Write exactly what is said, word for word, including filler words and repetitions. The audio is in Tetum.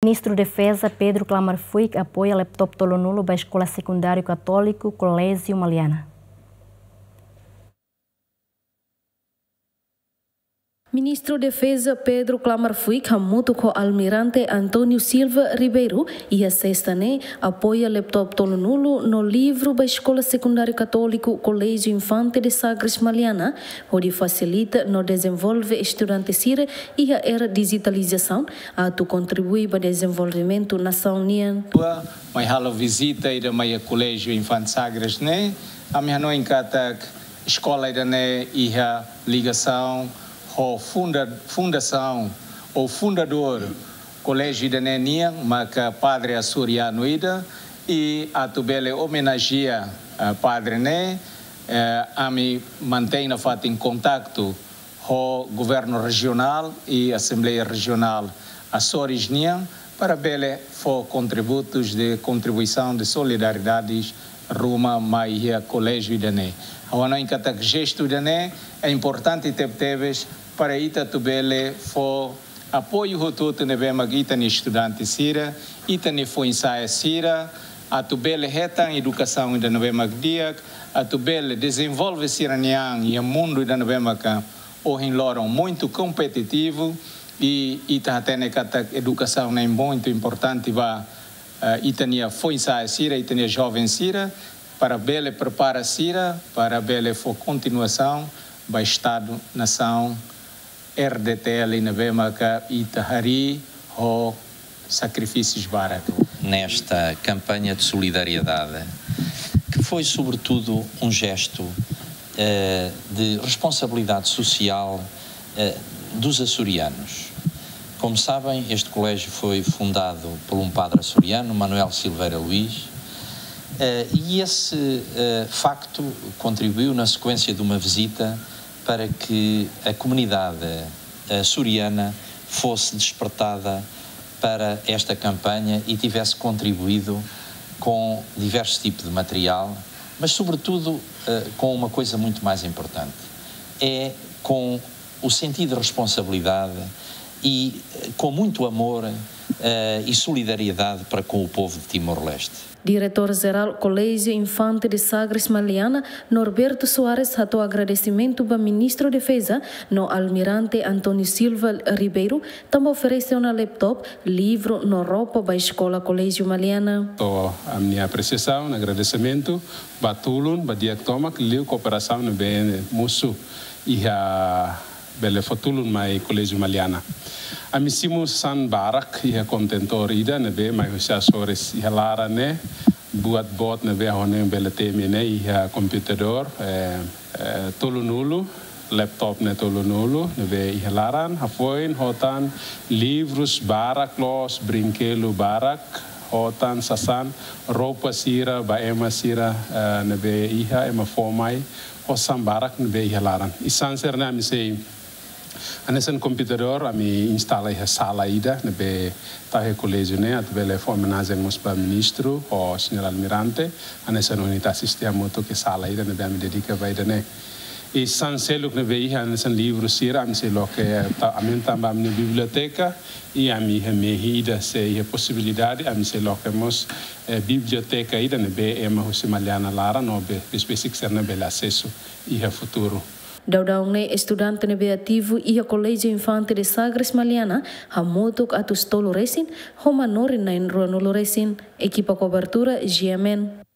Ministru Defeza Pedro Klammer Fuik apoia laptop tolunulu ba Eskola Sekundáriu Katóliku Koléjiu Maliana. Ministru Defeza Pedro Klammer Fuik hamutuk ho Almirante António Silva Ribeiro iha sesta ne'e apoia laptop tolunulu no livru ba Eskola Sekundáriu Katóliku Koléjiu Infante de Sagres Maliana, hodi fasilita no dezenvolve estudante sira iha era dijitalizasaun, atu kontribui ba dezenvolvimentu nasaun nian. Mai halo vizita ida mai iha Koléjiu Infante Sagres ne'e, ami hanoin katak eskola ida-ne'e iha ligasaun ho funda-, fundasaun ou fundadór koléjiu ida-ne'e nian, maka padre asorianu ida, i atu bele omenajea, eh, padre ne'e, eh, ami mantein nafatin kontaktu ho governu rejionál i Asembleia Rejionál Açores nian, para bele fó kontributus de kontribuisaun de solidariedade ruma mai iha koléjiu ida-ne'e. Ha'u hanoin katak jestu ida-ne'e é importante tebetebes para ita atu bele fó apoiu hotu-hotu ne'ebé mak ita-nia estudante sira, ita-nia foin-sa'e sira, atu bele hetan edukasaun ida ne'ebé mak di'ak, atu bele dezenvolve sira-nia an iha mundu ida ne'ebé maka ohin loron muitu kompetitivu, i ita hatene katak edukasaun ne'e muitu importante ba, eh, ita-nia foin-sa'e sira, ita-nia joven sira, para bele prepara sira, para bele fó kontinuasaun ba Estadu nasaun R D T L ne'ebé maka ita harii ho sakrifísius barak. Nesta campanha de solidariedade, que foi sobretudo um gesto, eh, de responsabilidade social, eh, dos açorianos. Como sabem, este colégio foi fundado por um padre açoriano, Manuel Silveira Luís, eh, e esse, eh, facto contribuiu na sequência de uma visita para que a comunidade, eh, açoriana fosse despertada para esta campanha e tivesse contribuído com diversos tipos de material, mas sobretudo, eh, com uma coisa muito mais importante. É com o sentido de responsabilidade e, eh, com muito amor, eh, e solidariedade para com o povo de Timor-Leste. Diretór Jerál Koléjiu Infante de Sagres Maliana, Norberto Soares, hato'o agradesimentu ba Ministru Defeza no Almirante António Silva Ribeiro, tanba oferese ona laptop, livru no roupa ba eskola Koléjiu Maliana. Hato'o ami-nia apresiasaun, agradesimentu ba tulun, ba di'ak tomak, liu kooperasaun ne'ebé mosu iha bele fó tulun mai Koléjiu Maliana. Ami simu sasán barak iha kontentór ida ne'ebé mai husi Açores iha laran ne'e, buat boot ne'ebé ha'u hanoin bele temi ne'e iha komputadór, eh, eh, tolunulu, laptop ne'e tolunulu, ne'ebé iha laran, hafoin, hotan, livrus barak loos, brinkedu barak, hotan, sasán, roupa sira, ba ema sira, eh, ne'ebé iha, ema fó mai, ho sasán barak ne'ebé iha laran. I sasán sira-ne'e ami sei, hanesan komputadór, ami instala iha sala ida, ne'ebé tau iha koléjiu ne'e, atu bele fó omenajen mós ba ministru, ho señór Almirante, hanesan ohin ita asiste hamutuk iha sala ida, ne'ebé ami dedika ba ida-ne'e. I sasán seluk ne'ebé iha, hanesan livru sira, ami sei loke, ta-, ami tanba ami-nia biblioteka, i ami iha mehi ida se iha posibilidade, ami sei loke mós, eh, biblioteka ida ne'ebé ema husi Maliana laran no be-, besik-besik sira-ne'e bele asesu iha futuru. Daudaun ne'e estudante ne'ebé ativu iha Koléjiu Infante de Sagres Maliana hamutuk atus tolu resin, ho manorin na'in ruanulu resin. Ekipa kobertura G M N.